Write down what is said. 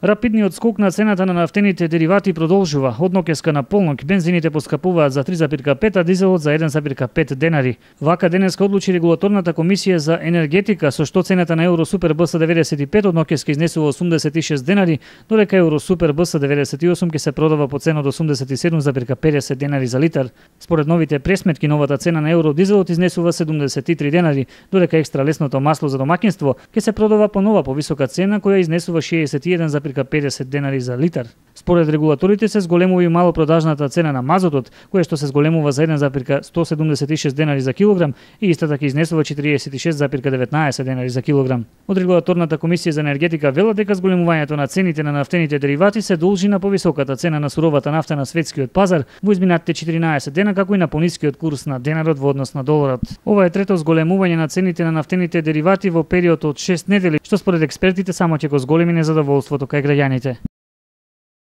Рапидниот скок на цената на нафтените деривати продолжува. Од ноќеска на полнок бензините поскапуваат за 3,5, а дизелот за 1,5 денари. Вака денеска одлучи регулаторната комисија за енергетика, со што цената на Евро Супер БС 95 од ноќеска изнесува 86 денари, додека Евро Супер БС 98 ќе се продава по цена од 87,50 денари за литар. Според новите пресметки, новата цена на Евро дизелот изнесува 73 денари, додека екстра лесното масло за домаќинство ќе се продава по нова повисока цена која изнесува 61,50 денари за литар. Според регулаторите се зголемува и малопродажната цена на мазотот, која што се зголемува за 1,176 денари за килограм и истата ќе изнесува 46,19 денари за килограм. Од регулаторната комисија за енергетика велат дека зголемувањето на цените на нафтените деривати се должи на повисоката цена на суровата нафта на светскиот пазар во изминатите 14 дена, како и на понискиот курс на денарот во однос на доларот. Ова е трето зголемување на цените на нафтените деривати во период од 6 недели, што според експертите само ќе го зголеми незадоволството кај граѓаните.